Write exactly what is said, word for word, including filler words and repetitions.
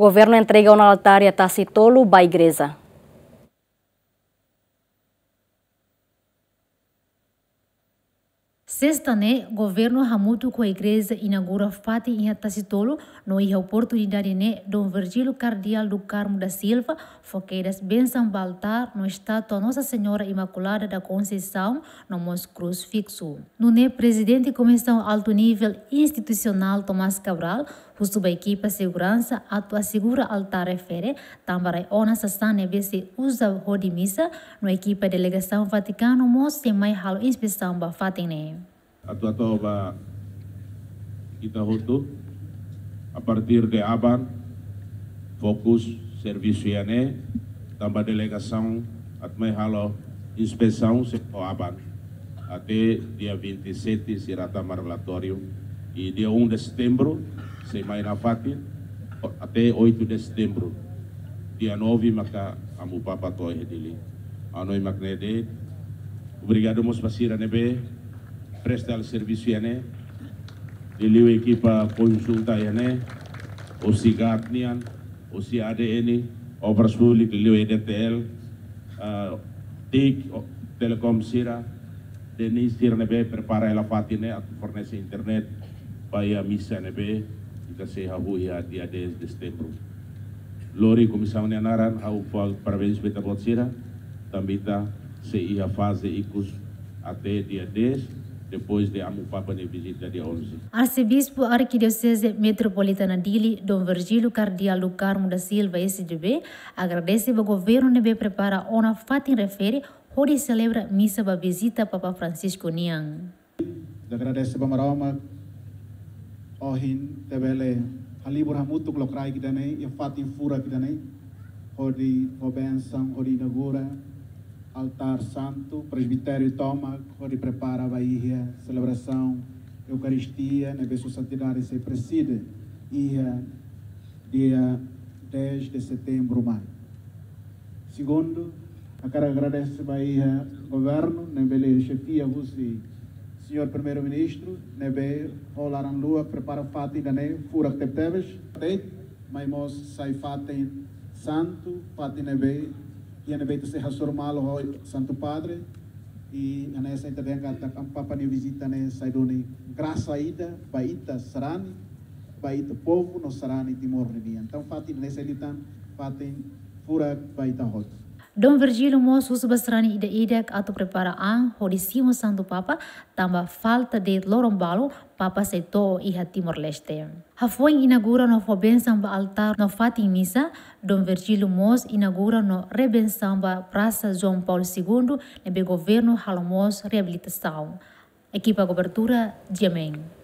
Governu entrega ona altár iha Tasi Tolu ba igreja. Sesta ne'e, governu hamutuk ho igreja inaugura fatin iha Tasi Tolu, no iha oportunidade ne'e, Dom Virgílio Kardeál do Carmo da Silva fó kedas bensaun ba altár no estátua Nossa Senhora Imaculada da Conceição, no mós krúsifiksu. Nune'e, Prezidente Komisaun Altu Nivel Institusionál Tomás Cabral husu ba ekipa seguransa atu asegura altár refere, tanba rai ona sasán ne'ebé sei uza hodi misa, no ekipa delegasaun Vatikanu mós sei mai halo inspesaun ba fatin ne'e. Atu hato'o ba ita hotu, a partir de aban, fokus servisu iha ne'e, tanba delegasaun atu mai halo inspesaun sei to'o aban. Até dia vinte e sete sira tama relatóriu. I dia um de setembro sei mai nafatin, o-, até oito de setembro. Dia nove maka Amu Papa to'o iha Dili. Ha'u hanoin mak ne'e de'it. Obrigadu mós ba sira ne'ebé presta servisu iha ne'e. Liuliu ekipa konjunta iha ne'e, husi GAT nian, husi A D N, Obras Públikas, liuliu E D T L, ah, TIC, o, Telecom sira, DENIT sira ne'ebé prepara hela fatin ne'e atu fornese internet ba iha misa ne'ebé ita sei hahú iha dia dez de setembro. Lori komisaun nia naran, ha'u fó parabéns ba ita-boot sira, tanba ita sei iha faze ikus até dia dez, depois de Amu Papa nia vizita dia onze. Arsebispu Arkidioseze Metropolitana Dili, Dom Virgílio Kardeál do Carmo da Silva, S J B, agradese ba governu ne'ebé prepara ona fatin refere hodi selebra misa ba vizita Papa Francisco nian. Agradese ba Maromak, ohin ita bele halibur hamutuk lokraik ida-ne'e, iha fatin furak ida-ne'e, hodi fó bensaun, hodi inaugura altár santu, presbitériu tomak, hodi prepara ba iha selebrasaun Eukaristia ne'ebé Sua Santidade sei prezide iha dia dez de setembro mai. Segundu, hakarak agradese ba iha governu ne'ebé xefia husi Señór Primeiru-Ministru, ne'ebé ho laran-luak prepara fatin ida-ne'e furak tebetebes. De'it, mai mós sai fatin santu, fatin ne'ebé, iha ne'ebé ita sei hasoru malu ho Santu Padre, i hanesan ita dehan katak Amu Papa nia vizita ne'e sai duni grasa ida ba ita sarani, ba ita povu no sarani Timor ninian. Entaun, fatin ne'e sai liután fatin furak ba ita hotu. Dom Virgílio mós husu ba sarani ida-idak atu prepara an hodi simu Santu Papa, tanba falta de'it loron balu Papa sei to'o iha Timor-Leste. Hafoin inaugura no fó bensaun ba altár no fatin misa, Dom Virgílio mós inaugura no rebensaun ba Prasa João Paulo Segundo, ne'ebé governu halo mós reabilitasaun. Ekipa kobertura, G M N.